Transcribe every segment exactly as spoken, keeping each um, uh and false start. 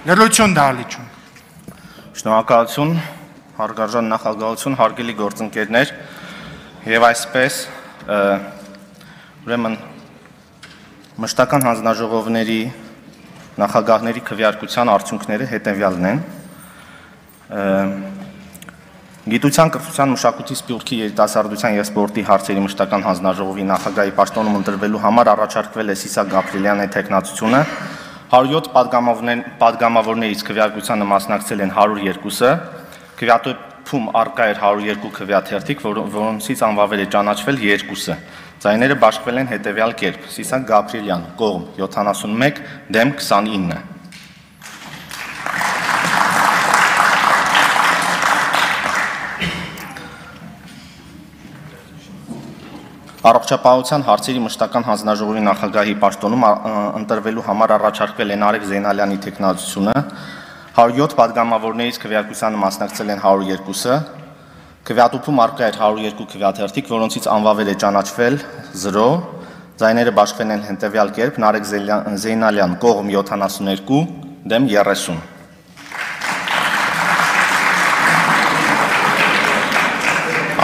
Լրություն դահլիճում։ Շնորհակալություն, հարգարժան նախագահություն, հարգելի գործընկերներ, եւ այսպես ուրեմն մշտական հանձնաժողովների նախագահների քվեարկության արդյունքները հետևյալն են։ Գիտության, կրթության, մշակույթի, սպորտի, երիտասարդության եւ սպորտի հարցերի մշտական հանձնաժողովի նախագահի պաշտոնում ընտրվելու համար առաջարկվել է Սիսակ Գաբրիելյանի թեկնածությունը։ հարյուր յոթ պատգամավորներից քվեարկությանը մասնակցել են հարյուր երկուսը, քվեատուփում առկա էր հարյուր երկու քվեաթերթիկ, որոնցից անվավեր է ճանաչվել երկուսը։ Ձայները բաշխվել են հետևյալ կերպ. Սիսակ Գաբրիելյան, կողմ յոթանասունմեկ, դեմ քսանինը։ Առողջապահության հարցերի մշտական հանձնաժողովի նախագահի պաշտոնում ընտրվելու համար առաջարկվել է Նարեկ Զեյնալյանի թեկնածությունը, հարյուր յոթ պատգամավորներից քվեարկությանը մասնակցել են հարյուր երկուսը, քվեատուփում առկա էր հարյուր երկու քվեաթերթիկ, որոնցից անվավեր է ճանաչվել զրո, ձայները բաշխվել են հետևյալ կերպ. Նարեկ Զեյնալյան, կողմ յոթանասուներկու, դեմ երեսուն։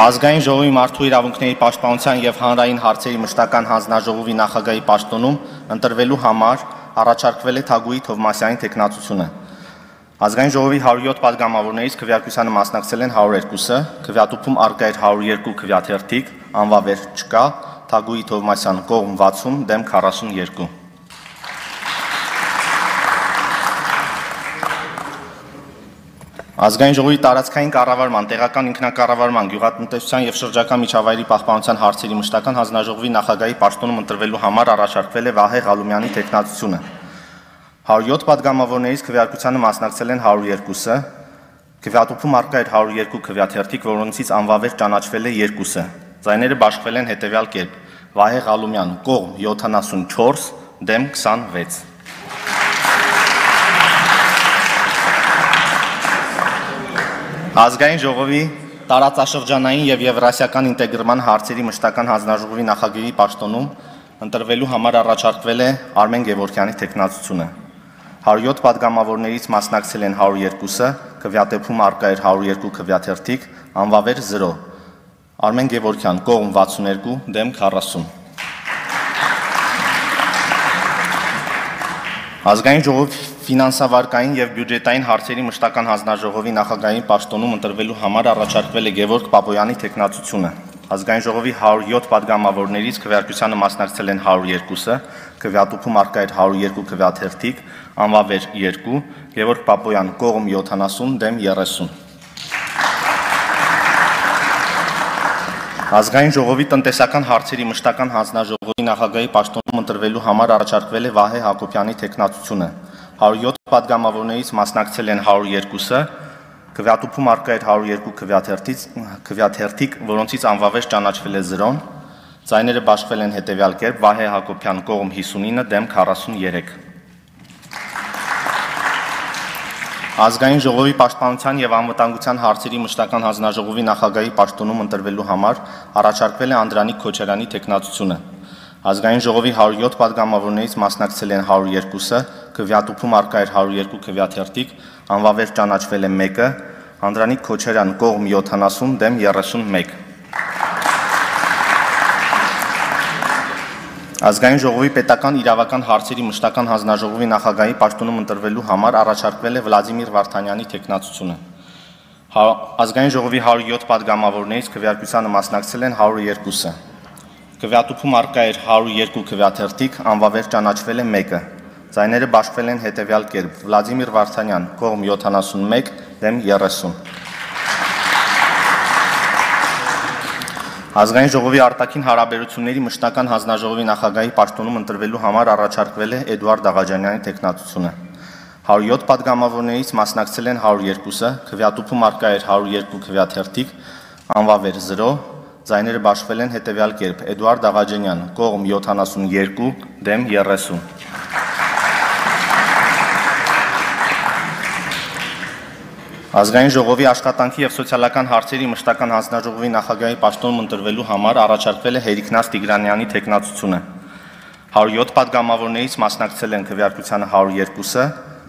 Ազգային ժողովի մարդու իրավունքների պաշտպանության եւ հանրային հարցերի մշտական հանձնաժողովի նախագահի պաշտոնում ընտրվելու համար առաջարկվել է Թագուհի Թովմասյանի թեկնածությունը։ Ազգային ժողովի հարյուր յոթ պատգամավորներից քվեարկությանը մասնակցել են հարյուր երկուսը, քվեատուփում առկա էր հարյուր երկու քվեաթերթիկ, անվավեր չկա, Թագուհի Թովմասյան, կողմ վաթսուն, դեմ քառասունյոթ։ Ազգային ժողովի տարածքային կառավարման, տեղական ինքնակառավարման, գյուղատնտեսության եւ շրջակա միջավայրի պահպանության հարցերի մշտական հանձնաժողովի նախագահի պաշտոնում ընտրվելու համար առաջարկվել է Վահե Ղալումյանի թեկնածությունը։ հարյուր յոթ պատգամավորներից քվեարկությանը մասնակցել են հարյուր երկուսը, քվեատուփում առկա էր հարյուր երկու քվեաթերթիկ, որոնցից անվավեր ճանաչվել է երկուսը։ Ձայները բաշխվել են հետևյալ կերպ. Վահե Ղալումյան, կողմ յոթանասունչորս, դեմ քսանվեց։ Ազգային ժողովի տարածաշրջանային եւ եվրասիական ինտեգրման հարցերի մշտական հանձնաժողովի նախագահի պաշտոնում ընտրվելու համար առաջարկվել է Արմեն Գևորգյանի թեկնածությունը։ հարյուր յոթ պատգամավորներից մասնակցել են հարյուր երկուսը, քվեատեփում առկա էր հարյուր երկու քվեաթերթիկ, անվավեր զրո։ Արմեն Գևորգյան, կողմ վաթսուներկու, դեմ քառասուն։ Ազգային ժողովի ֆինանսավարկային եւ բյուջետային հարցերի մշտական հանձնաժողովի նախագահի պաշտոնում ընտրվելու համար առաջարկվել է Գևորգ Պապոյանի թեկնածությունը։ Ազգային ժողովի հարյուր յոթ պատգամավորներից քվեարկությանը մասնակցել են հարյուր երկուսը, քվեատուփում առկա էր հարյուր երկու քվեաթերթիկ, անվավեր երկու, Գևորգ Պապոյան, կողմ յոթանասուն, դեմ երեսուն։ Ազգային ժողովի տնտեսական հարցերի մշտական հանձնաժողովի նախագահի պաշտոնում ընտրվելու համար առաջարկվել է Վահե Հակոբյանի թեկնածությունը։ հարյուր յոթ պատգամավորներից մասնակցել են հարյուր երկուսը, քվեատուփում առկա էր հարյուր երկու քվեաթերթիկ, որոնցից անվավեր ճանաչվել է զրոն, ձայները բաշխվել են հետևյալ կերպ. Վահե Հակոբյան, կողմ հիսունինը, դեմ քառասունյոթ։ Ազգային ժողովի պաշտպանության եւ անվտանգության հարցերի մշտական հանձնաժողովի նախագահի պաշտոնում ընտրվելու համար առաջարկվել է Անդրանիկ Քոչարյանի թեկնածությունը։ Ազգային ժողովի հարյուր յոթ պատգամավորներից մասնակցել են հարյուր երկուսը, քվեատուփում առկա էր հարյուր երկու քվեաթերթիկ, անվավեր ճանաչվել է մեկը, Անդրանիկ Քոչարյան, կողմ յոթանասուն, դեմ երեսունմեկ։ Ազգային ժողովի պետական իրավական հարցերի մշտական հանձնաժողովի նախագահի պաշտոնում ընտրվելու համար առաջարկվել է Վլադիմիր Վարդանյանի թեկնածությունը։ Ազգային ժողովի հարյուր յոթ պատգամավորներից քվեարկությանը մասնակցել են հարյուր երկուսը։ Քվեատուփում առկա էր հարյուր երկու քվեաթերթիկ, անվավեր ճանաչվել է մեկը։ Ձայները բաշխվել են հետևյալ կերպ. Վլադիմիր Վարդանյան, կողմ յոթանասունմեկ, դեմ երեսուն։ Ազգային ժողովի արտաքին հարաբերությունների մշտական հանձնաժողովի նախագահի պաշտոնում ընտրվելու համար առաջարկվել է Էդուարդ Աղաջանյանի թեկնածությունը։ հարյուր յոթ պատգամավորներից մասնակցել են հարյուր երկուսը, քվեատուփում առկա էր հարյուր երկու քվեաթերթիկ, անվավեր զրո, ձայները բաշխվել են հետևյալ կերպ. Էդուարդ Աղաջանյան, կողմ յոթանասունյոթ, դեմ երեսուն։ Ազգային ժողովի աշխատանքի եւ սոցիալական հարցերի մշտական հանձնաժողովի նախագահի պաշտոնում ընտրվելու համար առաջարկվել է Հերիկնաց Տիգրանյանի թեկնածությունը։ հարյուր յոթ պատգամավորներից մասնակցել են քվեարկությանը հարյուր երկուսը,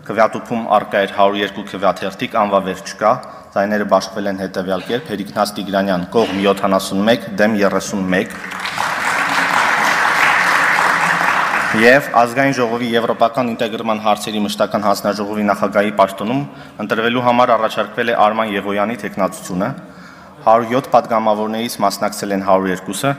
քվեատուփում արկա էր հարյուր երկու քվեաթերթիկ, անվավեր չկա, ձայները բաշխվել են հետևյալ կերպ. Հերիքնաց Տիգրանյան կողմ յոթանասունմեկ, դեմ երեսունմեկ։ Եվ ազգային ժողովի եվրոպական ինտեգրման հարցերի մշտական հանձնաժողովի նախագահի պաշտոնում ընտրվելու համար առաջարկվել է Արման Եղոյանի թեկնածությունը, հարյուր յոթ պատգամավորներից մասնակցել են հարյուր երկուսը,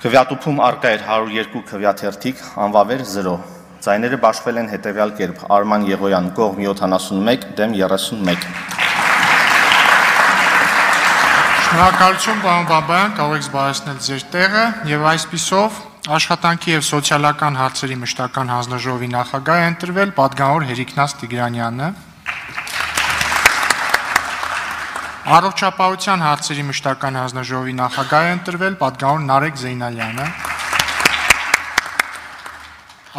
քվեատուփում արկա էր հարյուր երկու քվեաթերթիկ, անվավեր զրո։ Ձայները բաշխվել են հետևյալ կերպ. Արման Եղոյան կողմ յոթանասունմեկ, դեմ երեսունմեկ։ Շնորհակալություն, պարոն Բաբայան, կարող եք զբաղեցնել ձեր տեղը եւ այսպիսով Աշխատանքի եւ սոցիալական հարցերի մշտական հանձնաժողովի նախագահ է ընտրվել պատգամավոր Հերիքնաց Տիգրանյանը։ Առողջապահության հարցերի մշտական հանձնաժողովի նախագահ է ընտրվել պատգամավոր Նարեկ Զեյնալյանը։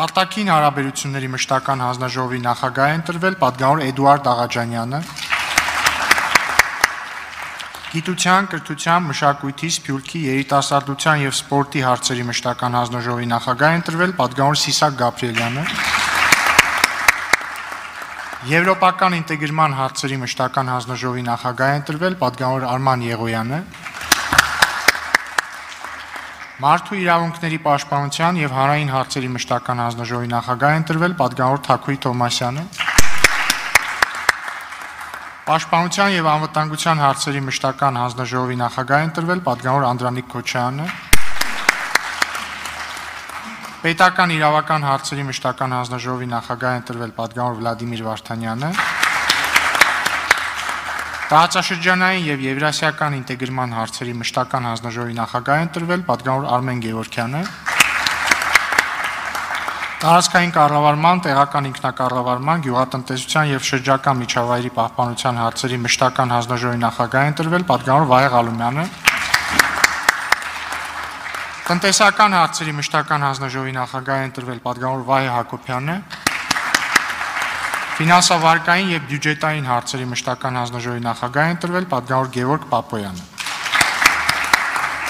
Արտաքին հարաբերությունների մշտական հանձնաժողովի նախագահ է ընտրվել պատգամավոր Էդուարդ Աղաջանյանը։ Գիտության, կրթության, մշակույթի, սփյուռքի, երիտասարդության եւ սպորտի հարցերի մշտական հանձնաժողովի նախագահ է ընտրվել պատգամավոր Սիսակ Գաբրիելյանը։ Եվրոպական ինտեգրման հարցերի մշտական հանձնաժողովի նախագահ է ընտրվել պատգամավոր Արման Եղոյանը։ Մարդու իրավունքների պաշտպանության եւ հանրային հարցերի մշտական հանձնաժողովի նախագահ է ընտրվել պատգամավոր Թաքուի Թոմասյանը։ Պաշտպանության եւ անվտանգության հարցերի մշտական հանձնաժողովի նախագահ է ընտրվել պատգամավոր Անդրանիկ Քոչարյանը։ Պետական իրավական հարցերի մշտական հանձնաժողովի նախագահ է ընտրվել պատգամավոր Վլադիմիր Վարդանյանը։ Տարածաշրջանային եւ եվրասիական ինտեգրման հարցերի մշտական հանձնաժողովի նախագահ է ընտրվել պատգամավոր Արմեն Գևորգյանը։ Տարածքային կառավարման, տեղական ինքնակառավարման, գյուղատնտեսության եւ շրջակա միջավայրի պահպանության հարցերի մշտական հանձնաժողովի նախագահ է ընտրվել պատգամավոր Վահե Ղալումյանը։ Տնտեսական հարցերի մշտական հանձնաժողովի նախագահ է ընտրվել պատգամավոր Վահե Հակոբյանը։ Ֆինանսավարկային եւ բյուջետային հարցերի մշտական հանձնաժողովի նախագահ է ընտրվել պատգամավոր Գևորգ Պապոյանը։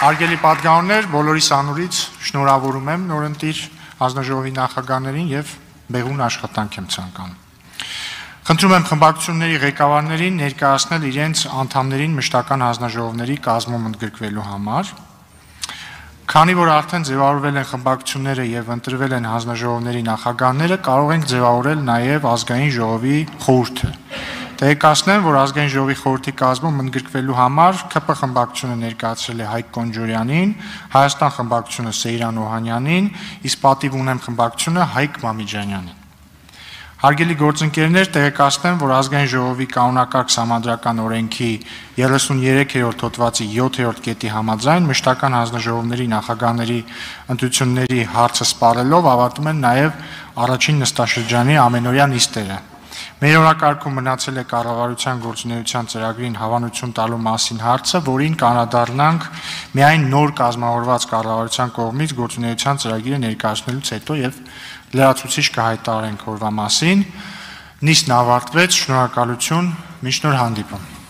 Հարգելի պատգամավորներ, բոլորիս անունից շնորհավորում եմ նորընտիր հանձնաժողովի նախագահներին եւ բեղուն աշխատանք եմ ցանկանում։ Խնդրում եմ խմբակցությունների ղեկավարներին ներկայացնել իրենց անդամներին մշտական հանձնաժողովների կազմում ընդգրկվելու համար։ Քանի որ արդեն ձևավորվել են խմբակցությունները եւ ընտրվել են հանձնաժողովների նախագահները, կարող ենք ձևավորել նաեւ ազգային ժողովի խորհուրդը։ Տեղեկացնեմ, որ ազգային ժողովի խորհրդի կազմում ընդգրկվելու համար ՔՊ խմբակցությունը ներկայացրել է Հայկ Կոնջորյանին, Հայաստան խմբակցությունը Սեյրան Օհանյանին, իսկ Պատիվ ունեմ խմբակցությունը Հայկ Մամիջանյանին։ Հարգելի գործընկերներ, տեղեկացնեմ, որ ազգային ժողովի կանոնակարգ սահմանադրական օրենքի երեսուններեքերորդ հոդվածի յոթերորդ կետի համաձայն մշտական հանձնաժողովների նախագահների ընտրությունների հարցը սպառելով ավարտում են նաև առաջին նստաշրջանի ամենօրյա նիստերը։ Մեր օրակարգում մնացել է կառավարության գործունեության ծրագրին հավանություն տալու մասին հարցը, որին կանադառնանք միայն նոր կազմավորված կառավարության կողմից գործունեության ծրագիրը ներկայացնելուց հետո եւ լրացուցիչ կհայտարարենք օրվա մասին։ Նիստն ավարտվեց, շնորհակալություն, մինչ նոր հանդիպում։